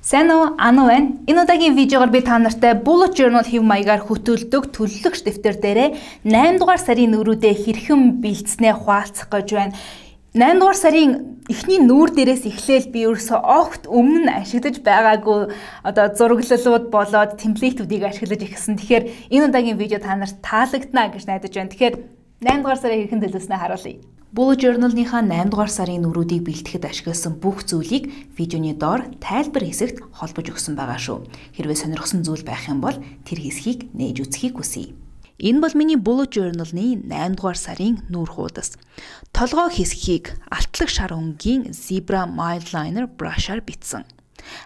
Сайн уу? Anu байна. Энэ удаагийн видеогоор би та нартай bullet journal хэв маягаар хөтөлдөг төлөвлөгч дэвтэр дээрээ 8 дугаар сарын нүүрүүдээ хэрхэн бэлдснээ хуваалцах гэж байна. 8 дугаар сарын эхний нүүр дээрээс эхлээл би ерөөсөө огт өмнө нь ашиглаж байгаагүй зураглалууд болоод темплейтүүдийг ашиглаж ирсэн. Тэгэхээр энэ удаагийн видео та нарт таалагдана гэж найдаж байна. Тэгэхээр 8 дугаар сарын хэрхэн төлөвлөснөө харуулъя. Bullet journal-ийнхаа 8 дугаар сарын нүүрүүдийг бэлтгэхэд ашигласан бүх зүйлийг видеоны доор тайлбар хэсэгт холбож өгсөн байгаа шүү. Хэрвээ сонирхсан зүйл байх юм бол тэр хэсгийг нээж үзхийг хүсье. Энэ бол миний bullet journal-ны 8 дугаар сарын нүүр хуудас. Толгой хэсгийг алтлаг шар өнгийн Zebra Mildliner brush-аар бичсэн.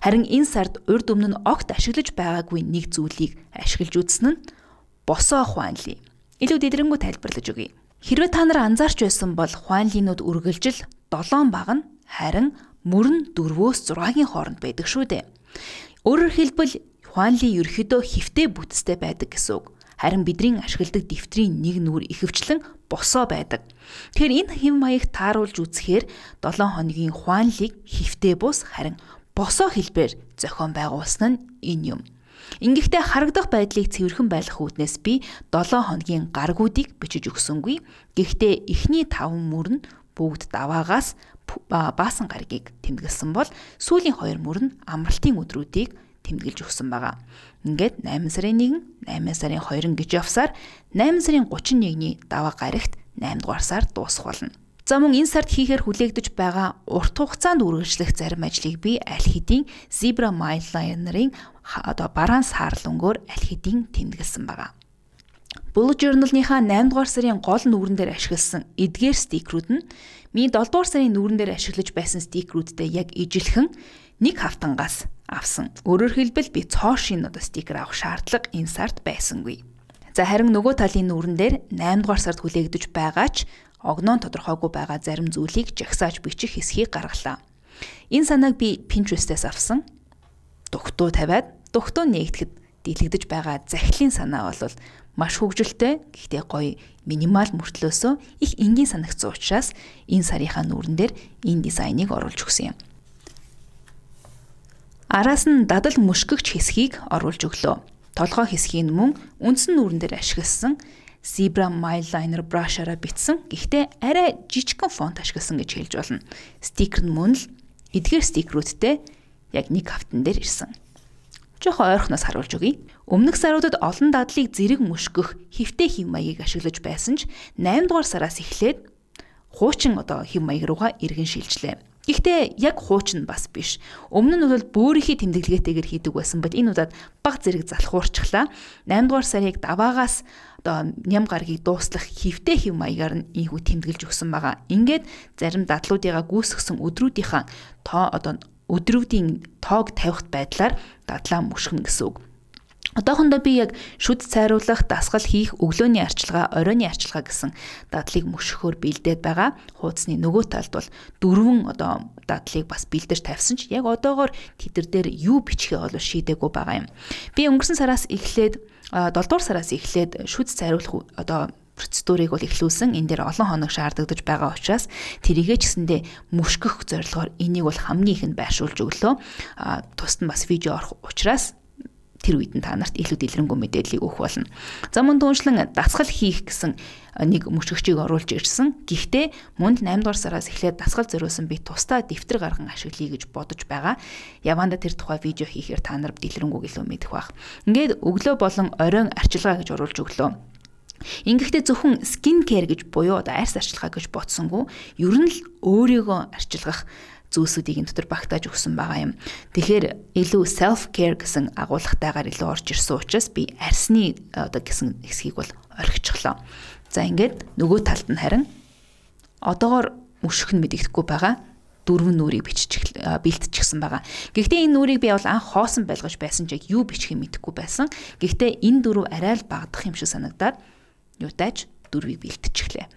Харин энэ сард урд өмнө нь огт ашиглаж байгаагүй нэг зүйлийг ашиглаж үзсэн нь босоо хуанли. Илүү дэлгэрэнгүй тайлбарлаж өгье. Хэрвээ та нар анзаарч байсан бол хуанлинууд үргэлжил 7 баг нь харин мөрөн 4-өөс 6-гийн хооронд байдаг шүү дээ. Өөрөөр хэлбэл хуанли ерөөхдөө хифтэй бүтцтэй байдаг гэсэн үг. Харин бидний ашигладаг дэвтрийн нэг нүур ихэвчлэн босоо байдаг. Тэгэхээр энэ хэв маяг тааруулж үзэхээр 7 хоногийн хуанлиг хифтэй бус харин босоо хэлбээр зохион байгуулсан нь энэ юм. Ингэхдээ харагдах байдлыг цэвэрхэн байлгах үүднээс би 7 хоногийн гаргуудыг бичиж өгсөнгүй. Гэхдээ эхний 5 мөр нь бүгд даваагаас баасан гаргийг тэмдэглэсэн бол сүүлийн 2 мөр нь амралтын өдрүүдийг тэмдэглэж өгсөн байгаа. Ингээд 8 сарын 1, 8 сарын 2 гэж явсаар 8 сарын 31-ний даваа гарагт 8 дугаар сар дуусах болно. За мөн энэ сард хийхээр хүлээгдэж байгаа урт хугацаанд үргэлжлэх зарим ажлыг би аль хэдийн Zebra Mildliner-ийн бараан саарл өнгөөр аль хэдийн тэмдэглэсэн байгаа. Bullet journal-ийнхаа 8 дугаар сарын гол нүүрэн дээр ашигласан эдгээр стикерүүд нь миний 7 дугаар сарын нүүрэн дээр ашиглаж байсан стикерүүдтэй яг ижилхэн нэг хавтангаас авсан. Өөрөөр хэлбэл би цоошин стикер авах шаардлага энэ сард байсангүй. За харин нөгөө талын нүүрэн дээр 8 дугаар сард хүлээгдэж байгаач огноон тодорхойгүй байгаа зарим зүйлийг жагсааж бичих хэсгийг гаргалаа. Энэ санааг би Pinterest-ээс авсан. Дугтуу тавиад дугтуу нээгдэхэд дэлгэж байгаа захидлын санаа бол маш хөгжилтэй, гэхдээ гоё минимал мөртлөөсөө их энгийн санагдсан учраас энэ сарынхаа нүүрэн дээр энэ дизайныг оруулж өгсөн юм. Араас нь дадал мөшгөгч хэсгийг оруулж өглөө. Толгой хэсгийг мөн үндсэн нүүрэн дээр ашигласан Zebra Mildliner brush-аараа бичсэн. Гэхдээ арай жижигхэн фонт ашигласан гэж хэлж болно. Стикер нь мөн л эдгээр стикерүүдтэй яг нэг хавтан дээр ирсэн. Жохоо ойрхоноос харуулж өгье. Өмнөх саруудад олон дадлыг зэрэг мөшгөх хифтэй хэв маягийг ашиглаж байсан ч 8 дугаар сараас эхлээд хуучин хэв маяг руугаа эргэн шилжлээ. Гэхдээ яг хуучин бас биш. Өмнө нь бол бөөрийнхий тэмдэглэгээтэйгээр хийдэг байсан бол энэ удаад баг зэрэг залхуурчглаа. 8 дугаар сарыг даваагаас ням гаргийг дуустах хифтэй хэв маягаар нь ийхүү тэмдэглэж өгсөн байгаа. Ингээд зарим дадлуудыгаа гүйсгсэн өдрүүдийн тоог тавихт байдлаар дадлаа мөшгөнө гэсэн үг. Одоохондоо би яг шүд цайруулах, дасгал хийх, өглөөний арчилгаа, оройны арчилгаа гэсэн дадлыг мөшгөхөөр бэлдээд байгаа. Хуудасны нөгөө талд бол 4 дадлыг бас бэлдэж тавьсан ч яг одоогоор тэтэр дээр юу бичихээ бол шийдээгүй байгаа юм. Би өнгөрсөн сараас эхлээд 7 дугаар сараас эхлээд шүд цайруулах процедурыг бол эхлүүлсэн. Энэ дээр олон хоног шаардагдаж байгаа учраас тэрийгэ ч гэсэндээ мөшгөх зорилгоор энийг бол хамгийн ихэнд байршуулж өглөө. Тусад нь бас видео орох учраас тэр үед нь та нарт илүү дэлгэрэнгүй мэдээллийг өгөх болно. За мөн түншлэн дасгал хийх гэсэн нэг мөшгөгчийг оруулж ирсэн. Гэхдээ мөн 8 дугаар сараас эхлээд дасгал зориулсан би тусдаа дэвтэр гарган ашиглая гэж бодож байгаа. Яванда тэр тухай видео хийхээр та нар дэлгэрэнгүй илүү мэдэх байх. Ингээд өглөө болон оройн арчилгаа гэж оруулж өглөө. Ингэхдээ зөвхөн skin care гэж буюу арьс арчилгаа гэж бодсонгүй ер нь л өөрийгөө арчилгах зүйлсүүдийг энэ дотор багтааж өгсөн байгаа юм. Тэгэхээр илүү self care гэсэн агуулгатайгаар илүү орж ирсэн учраас би арьсны гэсэн хэсгийг бол орхичихлоо. За ингээд нөгөө талд нь харин одоогоор мөшөх нь мэдэгдэхгүй байгаа 4 нүрийг бэлтчихсэн байгаа. Гэхдээ энэ нүрийг би бол анх хоосон байлгаж байсан ч яг юу бичих юм мэдэхгүй байсан. Гэхдээ энэ 4 арай л багдах юм шиг санагдаад юутайч 4-ийг бэлтчихлээ.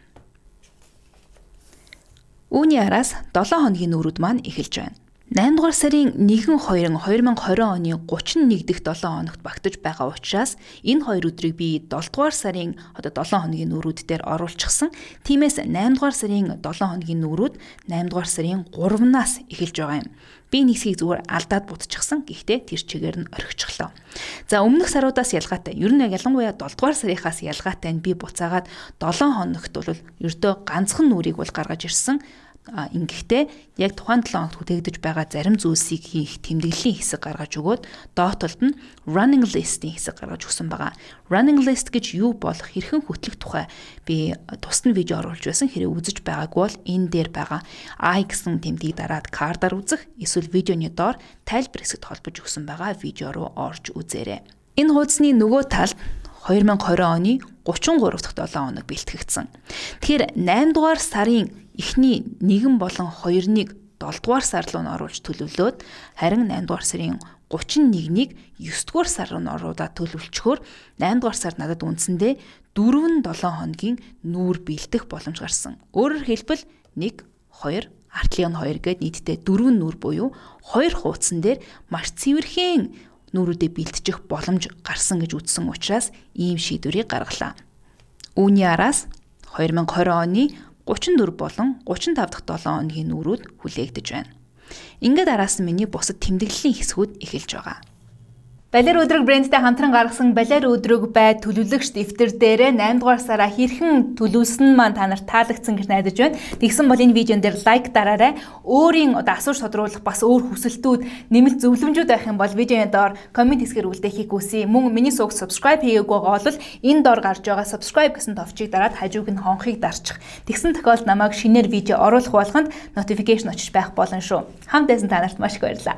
Үүний араас 7 хоногийн нүүрүүд маань эхэлж байна. 8 дугаар сарын 1-2 2020 оны 31 дэх 7 хоногт багтаж байгаа учраас энэ хоёр өдрийг би 7 дугаар сарын 7 хоногийн нүүрүүд дээр оруулчихсан. Тиймээс 8 дугаар сарын 7 хоногийн нүүрүүд 8 дугаар сарын 3-наас эхэлж байгаа юм. Би нэг хэсгийг зүгээр алдаад будчихсан. Гэхдээ тэр чигээр нь орхичихлоо. За өмнөх саруудаас ялгаатай. Ер нь ялангуяа 7 дугаар сарынхаас ялгаатай нь би буцаагаад 7 хоногт бол ердөө ганцхан нүрийг бол гаргаж ирсэн. Ингэхдээ яг тухайн 7 хоногт хүлээгдэж байгаа зарим зүйлсийг хийх тэмдэглэлийн хэсэг гаргаж өгөөд доотлолд нь running list-ийн хэсэг гаргаж өгсөн байгаа. Running list гэж юу болох хэрхэн хөтлөх тухай би тусад видео оруулж байсан. Хэрэг үзэж байгаагүй бол энэ дээр байгаа I гэсэн тэмдгийг дараад картаар үзэх эсвэл видеоны доор тайлбар хэсэгт холбож өгсөн байгаа видео руу орж үзээрэй. Энэ хуудасны нөгөө талд 2020 оны 33 дахь 7 хоног бэлтгэгдсэн. Тэгэхээр 8 дугаар сарын эхний 1 болон 2-ыг 7 дугаар сар руу нь оруулж төлөвлөөд харин 8 дугаар сарын 31-ийг 9 дугаар сар руу нь оруулаад төлөвлөчгөөр 8 дугаар сар надад үндсэндээ 4-7 хоногийн нүүр бэлдэх боломж гарсан. Өөрөөр хэлбэл 1 2 артлын 2 гээд нийтдээ 4 нүүр буюу 2 хуудсан дээр маш цэвэрхэн нүүрүүдэд бэлтжих боломж гарсан гэж үзсэн учраас ийм шийдвэрийг гаргалаа. Үүний араас 2020 оны 34 болон 35 дахь 7 хоногийн нүүрүүд хүлээгдэж байна. Ингээд араас нь миний бусад тэмдэглэлийн хэсгүүд эхэлж байгаа. Балер өдрөг брэндтэй хамтран гаргасан Балер өдрөг бай төлөвлөгч дэвтэр дээрээ 8 дугаар сараа хэрхэн төлөвлөсөн маань та нарт таалагдсан гэж найдаж байна. Тэгсэн бол энэ видеон дээр лайк дараарай. Өөрийн асууж тодруулах бас өөр хүсэлтүүд, нэмэлт зөвлөмжүүд байх юм бол видеоны доор комент хэсгээр үлдээхийг хүсье. Мөн миний сувг subscribe хийгээгүй байгаа бол энэ доор гарч байгаа subscribe гэсэн товчийг дараад хажууг нь хонхыг дарчих. Тэгсэн тохиолдолд намайг шинээр видео оруулах болгонд notification очиж байх болно шүү. Хамт байсан та нарт маш их баярлалаа.